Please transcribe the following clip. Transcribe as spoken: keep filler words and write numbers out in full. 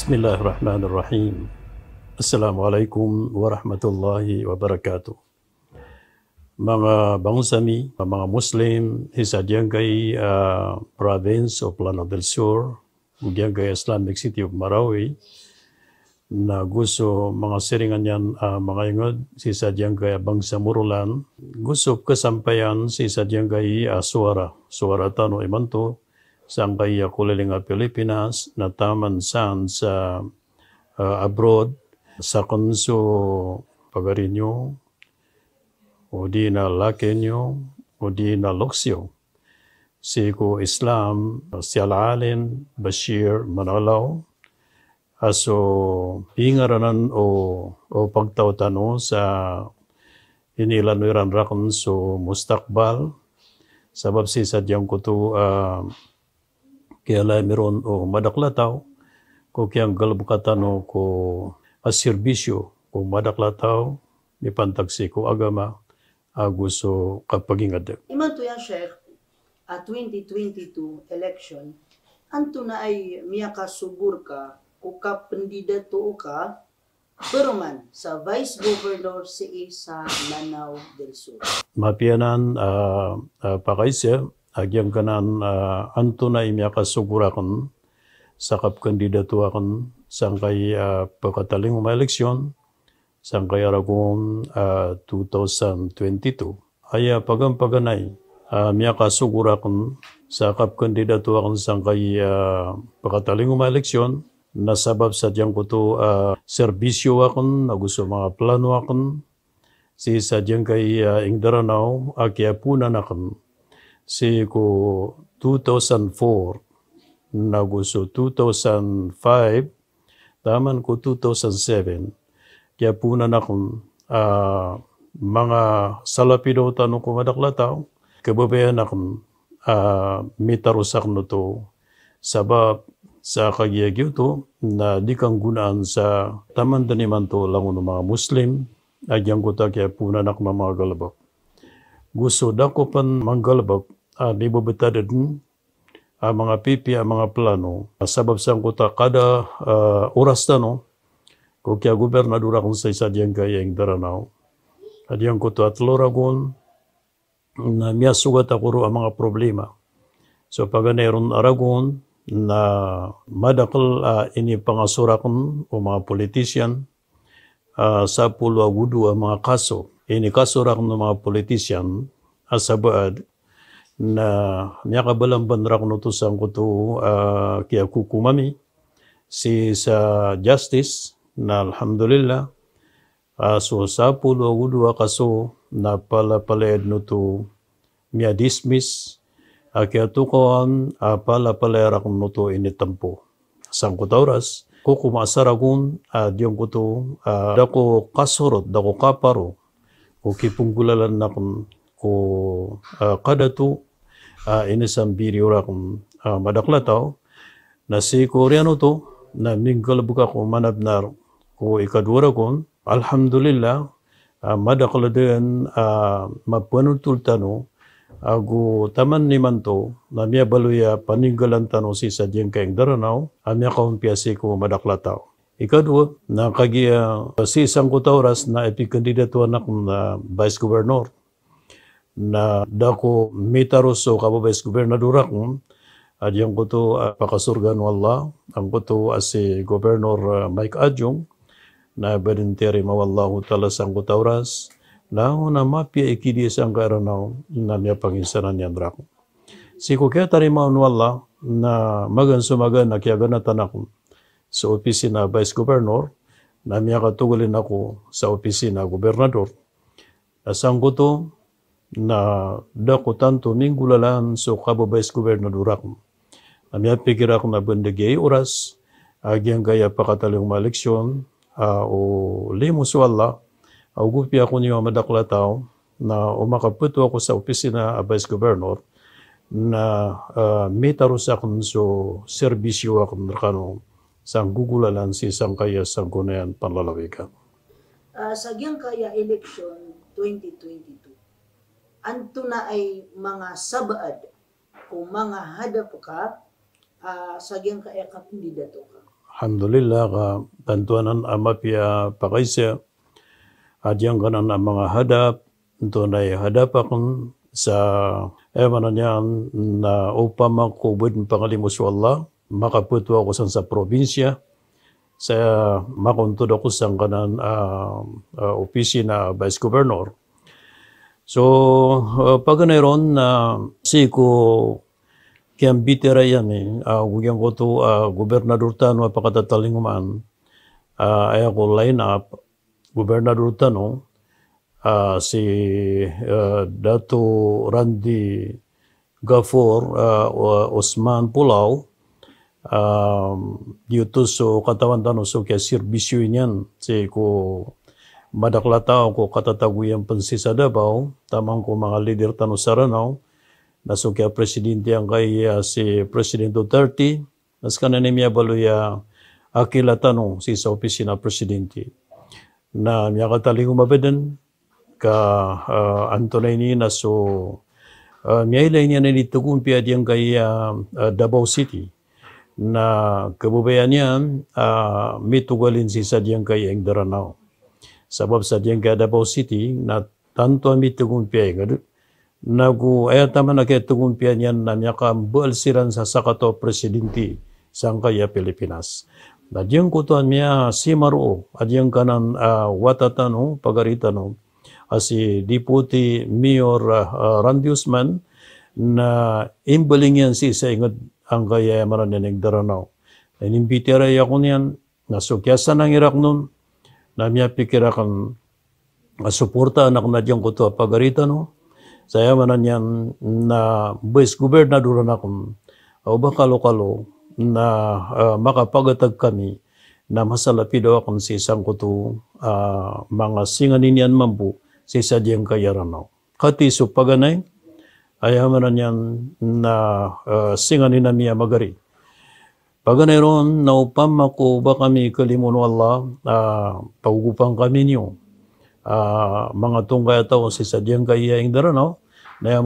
Bismillahirrahmanirrahim. Assalamualaikum warahmatullahi wabarakatuh. Manga bangsa mi, manga Muslim, sii sa giyangkai, ah, province of Lanao del Sur, giyangkai Islamic City of Marawi, na go so manga siringan iyan, ah, manga ingd, sii sa giyangkai a bangsa Morolan, go so kasampayan sii sa giyangkai a Suara, Suara tano imanto, sangkai a koliling a Pilipinas, na taman san sa, ah, abroad, sakn so pagari niyo, odi na laki niyo, odi na loks iyo. Sii ko Islam, si Al-Alim Bashir Manalaw, a so pingaranan o, o pagtaw tano sa inilay iran rakn so mustaqbal, sabap sii sa giyangkoto, ah, kiyalami ron o madakl a taw, ko kiyanggalbka tano ko a serbisyo ko madakl a taw, mipantag sii ko agama, ago so kapagingd. Imanto ya Sheikh, a twenty twenty-two election, antonaa i miyakasogo rka ko kapndidatoa ka paroman sa Vice Governor sii sa Lanao del Sur? Mapiya nan, ah, ah, pakaiza, a giyangkanan, ah, antonaa i miyakasogo rakn sa kapkandidato akn sangkai, ah, pkatalingoma a eleksyon, sangkai a ragon, ah, two thousand twenty-two. Aya paganay, ah, miyakasogo rakn sa kapkandidato akn sangkai, ah, pkatalingoma a eleksyon, na sabap sa giyangkoto, ah, serbisyo akn, ago so manga plano akn, sii sa giyangkai, ah, ingd a Ranaw, a kiyaponan akn sii ko two thousand four, na go so two thousand five, taman ko two thousand seven, kiyaponan akn, ah, manga salapidaw tano ko madakl a taw, kababayaan akn, ah, mitaros akn oto, sabap sa kagiya giyoto na di kanggonaan sa taman dn imanto langon o manga Muslim a giyangkoto a kiyaponan akn a manga galbk. Go so da ko pn manggalbk a di bbtad dn a manga pipiya a manga plano, sabap sangkoto a kada, ah, oras tano ko kiyagobernador akn sii sa giyangkai a ingd a Ranaw. A giyangkoto a tlo ragon, na miyasogat ako roo a manga problema. So paganay ron a ragon na madakl a inipangaso rakn o manga politician, ah, sapolo ago dowa a manga kaso. Inikaso rakn o manga politician a sabaad, na miyakabalamban rakn oto sangkoto, ah, kiyakokom ami sii sa justice, na alhamdulillah, ah, so sapolo ago dowa a kaso na palapalaya dn oto miyadismiss, a kiyatokawan a palapalaya rakn oto initmpo. Sangkoto a oras, kokoma sa ragon a giyangkoto a da ko kasorot, da ko kaparo ko kiponggolalan akn ko, ah, kadato a inisambiriyo rakn a madakl a taw. Na sii ko oriyan oto na minggalbk ako manabnar ko ikadowa ragon. Alhamdulillah, ah, madakl dn a mapanotol tano ago taman imanto na miyabaloy a paninggalan tano sii sa giyangkai a ingd a Ranaw a miyakaompiya sii ko madakl a taw. Ikadowa, na kagiya sii sangkoto a oras na ipikandidatowaan akn a vice governor, na da ko mitaros so kaba-vice gobernador akn a giyangkoto a pakasorgaan o Allah, angkoto a si Governor, ah, Mike Adjong, na ba dn tiyarima o Allahu Ta'ala sangkoto a oras, na langon a mapiya i kidiya sangkai a Ranaw na miyapanginsanan iyan rakn. Sii ko kiyatarimaan o Allah, na magaan so magaan a kiyaganatan akn sa opisina a vice governor, na miyakatogalin ako sa opisina a gobernador. Na sangkoto, na da ko tanto minggolalan so kaba-vice gobernador akn. Na miyapikir akn a ba dn giya i oras a giyangkaya pakatalingoma a eleksyon, a o limo so Allah, a o gopiya ako niyo a madakl a taw, na o makapto ako sa opisina a vice governor, na, ah, mitaros akn so serbisyo akn rkano sa nggogolalan sii sangkaya sangkonayan panlalawigan. Ah, sa giyangkaya election twenty twenty-two, antonaa i manga sabaad ko manga hadap ka, ah, sa giyangkaya kapndidato ka? Alhamdulillah, ka tanto anan a mapiya a pakaiza a giyangkanan a manga hadap, antonaa i hadap akn sa, aya maana niyan na opama ko bo dn pangalimo so Allah, makapto ako san sa probinsya, sa makontod ako sangkanan a, a opisina a vice governor. So, a, paganay ron na sii ko kiyambitiyarai ami, a, go giyangkoto a gobernador tano a pakatatalingoma, a, aya ko line up, gobernador tano, a, si, a, Dato Randy Gafor, a, o-, Osman Pulao, a, giyoto so katawan tano so kiyaserbisyo niyan sii ko madakl a taw ko katatagoyan pn sii sa Davao, taman ko manga leader tano sa Ranao, na so kiyapresidente angkaya si President Duterte, na skaniyan i miyabaloy a akila tano sii sa opisina presidente. Na miyakatalingoma ba dn ka, a, antonaa ini na so, a, miyailay niyan a initgompiya a giyangkaya, a, Davao City. Na kababayaan iyan a mitogalin sii sa giyangkaya ingd a Ranao. Sabap sa giyangkaya Davao City na tanto a mitgompiya ingd, nago aya taman a kiyatgompiya niyan na miyakambal siran sa sakataw a presidente sangkaya Pilipinas. Na giyangkoto a miyasimaro a giyangkanan a wata tano, pagari tano, a si Deputy Mayor, a, a, Randy Osman, na imbaling iyan sii sa ingd angkaya aya maana niyan ingd a Ranao. Na inimbitiyarai ako niyan, na so kiyasanangi rakn on, na miyapikir akn a suportaan akn a giyangkoto a pagari tano, sa aya maana niyan na vice governor akn, a, o ba kalokalo na, a, makapagatag kami na masalapidaw akn sii sangkoto a manga singanin iyan mambo sii sa giyangkaya Ranao. Katii so paganay, aya maana niyan na, a, singanin ami a magari. Paganay ron na opama ko ba kami kalimo o Allah, a, pagogopan kami niyo a manga tonggay a taw sii sa giyangkaya ingd a Ranao, na aya